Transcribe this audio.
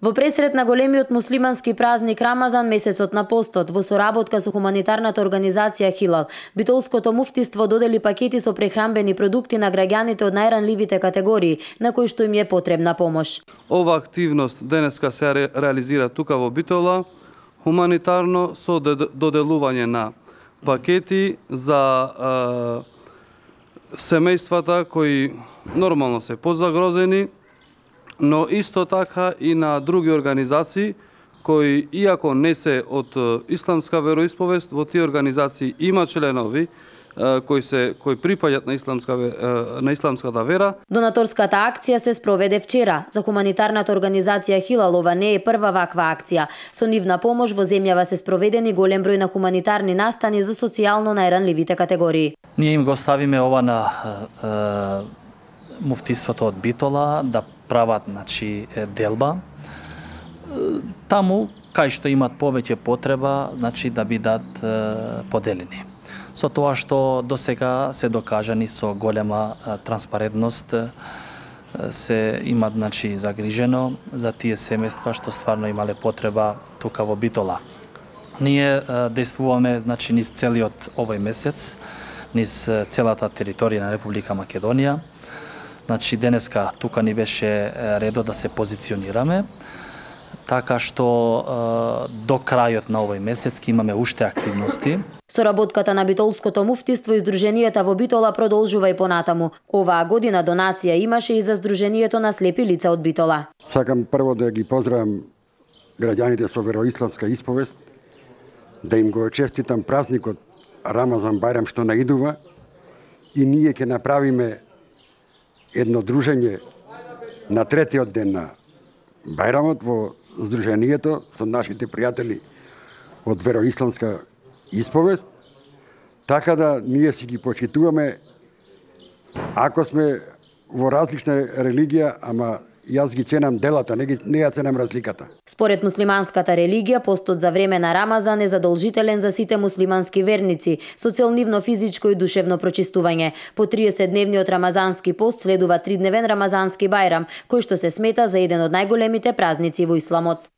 Во пресрет на големиот муслимански празник Рамазан, месецот на постот, во соработка со хуманитарната организација Хилал, Битолското муфтиство додели пакети со прехранбени продукти на граѓаните од најранливите категории, на кои што им е потребна помош. Ова активност денеска се реализира тука во Битола, хуманитарно со доделување на пакети за семејствата кои нормално се позагрозени, но исто така и на други организации кои, иако не се од исламска вероисповест, во тие организации има членови кои припаѓаат на исламската вера. Донаторската акција се спроведе вчера. За хуманитарната организација Хилал ова не е прва ваква акција. Со нивна помош во земјава се спроведени голем број на хуманитарни настани за социјално најранливите категории. Ние им го ставиме ова на муфтиството од Битола да прават делба. Таму кај што имат повеќе потреба, да бидат поделени. Со тоа што досега се докажани со голема транспарентност, се имат загрижено за тие семејства што стварно имале потреба тука во Битола. Ние действуваме низ целиот овој месец, низ целата територија на Република Македонија. Денеска тука ни беше редо да се позиционираме, така што до крајот на овој месец имаме уште активности. Соработката на Битолското муфтиство и Сдруженијата во Битола продолжува и понатаму. Оваа година донација имаше и за Сдруженијето на слепи лица од Битола. Сакам прво да ги поздравам граѓаните со вероисламска исповест, да им го честитам празникот Рамазан Бајрам што наидува, и ние ќе направиме едно дружење на третиот ден на Бајрамот во Сдруженијето со нашите пријатели од вероисламска исповест, така да ние си ги почитуваме, ако сме во различна религија, ама јас ги ценам делата, не ја ценам разликата. Според муслиманската религија, постот за време на Рамазан е задолжителен за сите муслимански верници, со цел нивно физичко и душевно прочистување. По 30-дневниот рамазански пост следува 3-дневен рамазански бајрам, кој што се смета за еден од најголемите празници во исламот.